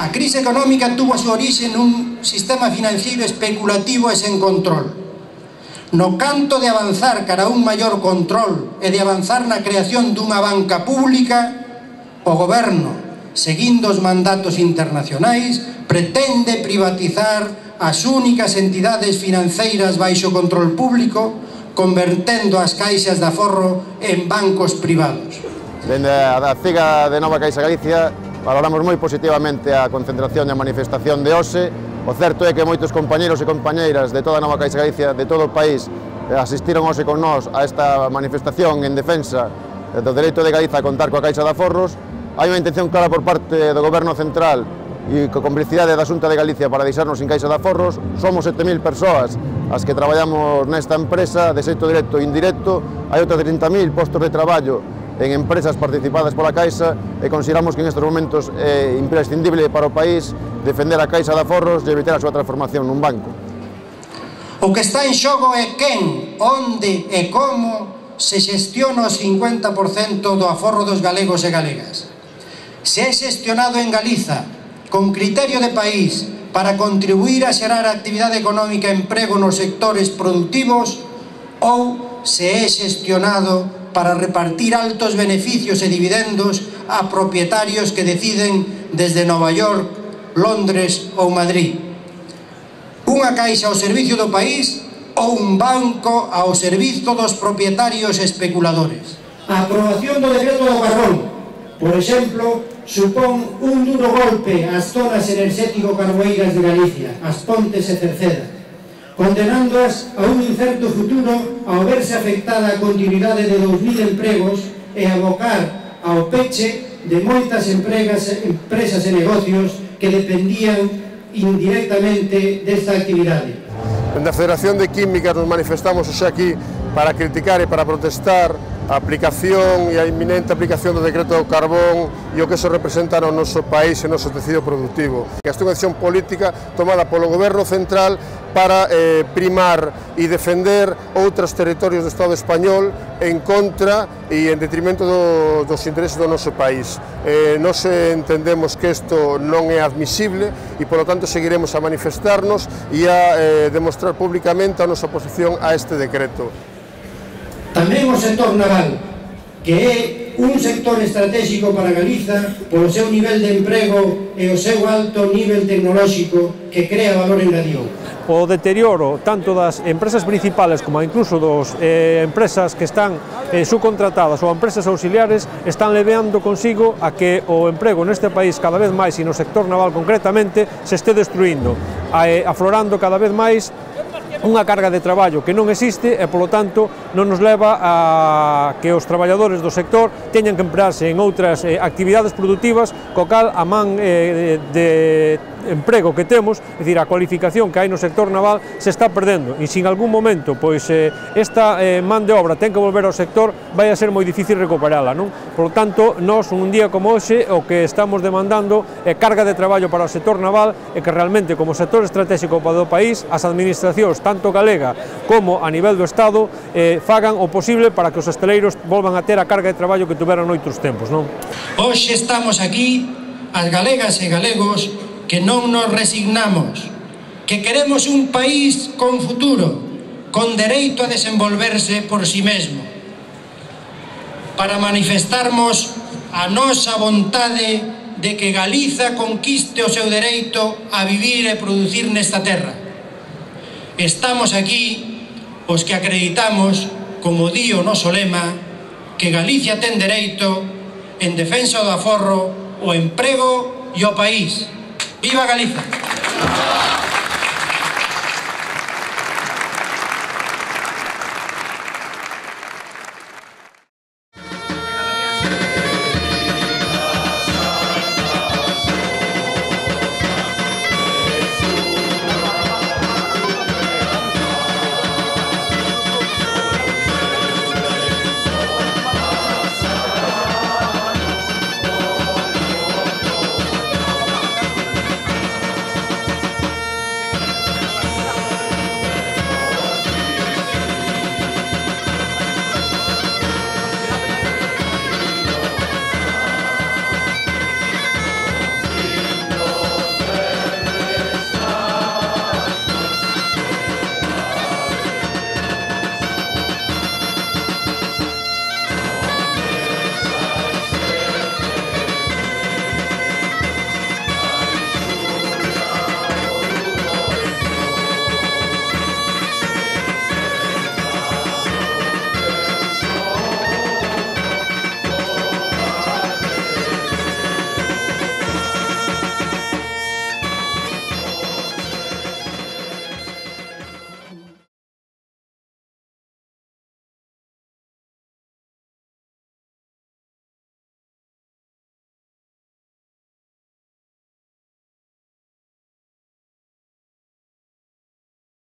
A crise económica tuvo a súa orixe nun sistema financiero especulativo e sen control. No canto de avanzar cara a un maior control e de avanzar na creación dunha banca pública, o goberno, seguindo os mandatos internacionais, pretende privatizar as únicas entidades financeiras baixo control público, convertendo as caixas de aforro en bancos privados. Dende a CIGA de Nova Caixa Galicia valoramos moi positivamente a concentración e a manifestación de hoxe. O certo é que moitos compañeros e compañeiras de toda a Nova Caixa Galicia, de todo o país, asistiron hoxe con nós a esta manifestación en defensa do dereito de Galiza a contar coa Caixa de Aforros. Hai unha intención clara por parte do Goberno Central e co complicidade da Xunta de Galicia para deixarnos sin Caixa de Aforros. Somos 7.000 persoas as que traballamos nesta empresa de xeito directo e indirecto. Hai outros 30.000 postos de traballo en empresas participadas pola Caixa e consideramos que en estes momentos é imprescindible para o país defender a Caixa de Aforros e evitar a súa transformación nun banco. O que está en xogo é quen, onde e como se xestiona o 50% do aforro dos galegos e galegas. Se é xestionado en Galiza con criterio de país para contribuir a xerar actividade económica e emprego nos sectores productivos, ou se é xestionado para repartir altos beneficios e dividendos a propietarios que deciden desde Nova York, Londres ou Madrid. Unha caixa ao servicio do país ou un banco ao servizo dos propietarios especuladores. A aprobación do decreto do carbón, por exemplo, supón un duro golpe ás zonas enerxético-carboeiras de Galicia, as Pontes e Cerceda, condenándoas a un incerto futuro ao verse afectada a continuidade de 2.000 empregos e abocar ao peche de moitas empresas e negocios que dependían indirectamente desta actividade. Dende a Federación de Químicas nos manifestamos hoxe aquí para criticar e para protestar a aplicación e a inminente aplicación do decreto do carbón e o que eso representa no noso país e no noso tecido productivo. Esta é unha acción política tomada polo Goberno Central para primar e defender outros territorios do Estado español en contra e en detrimento dos intereses do noso país. Nós entendemos que isto non é admisible e, polo tanto, seguiremos a manifestarnos e a demostrar públicamente a nosa oposición a este decreto. Tamén o sector naval, que é un sector estratégico para Galiza polo seu nivel de emprego e o seu alto nivel tecnolóxico que crea valor engadido. O deterioro tanto das empresas principales como incluso das empresas que están subcontratadas ou empresas auxiliares están leveando consigo a que o emprego neste país cada vez máis e no sector naval concretamente se este destruindo, aflorando cada vez máis unha carga de traballo que non existe e, polo tanto, non nos leva a que os traballadores do sector teñan que emplearse en outras actividades productivas, co cal a man de emprego que temos, é dicir, a cualificación que hai no sector naval se está perdendo e se en algún momento pois esta man de obra ten que volver ao sector vai a ser moi difícil recuperala, non? Por lo tanto, nós un día como hoxe o que estamos demandando é carga de traballo para o sector naval e que realmente como sector estratégico para o país as administracións, tanto galega como a nivel do Estado, fagan o posible para que os hostaleiros volvan a ter a carga de traballo que tuveran noutros tempos, non? Hoxe estamos aquí, as galegas e galegos, que non nos resignamos, que queremos un país con futuro, con dereito a desenvolverse por si mesmo, para manifestarmos a nosa vontade de que Galiza conquiste o seu dereito a vivir e producir nesta terra. Estamos aquí os que acreditamos, como di o noso lema, que Galicia ten dereito en defensa do aforro, o emprego e o país. ¡Viva Galicia!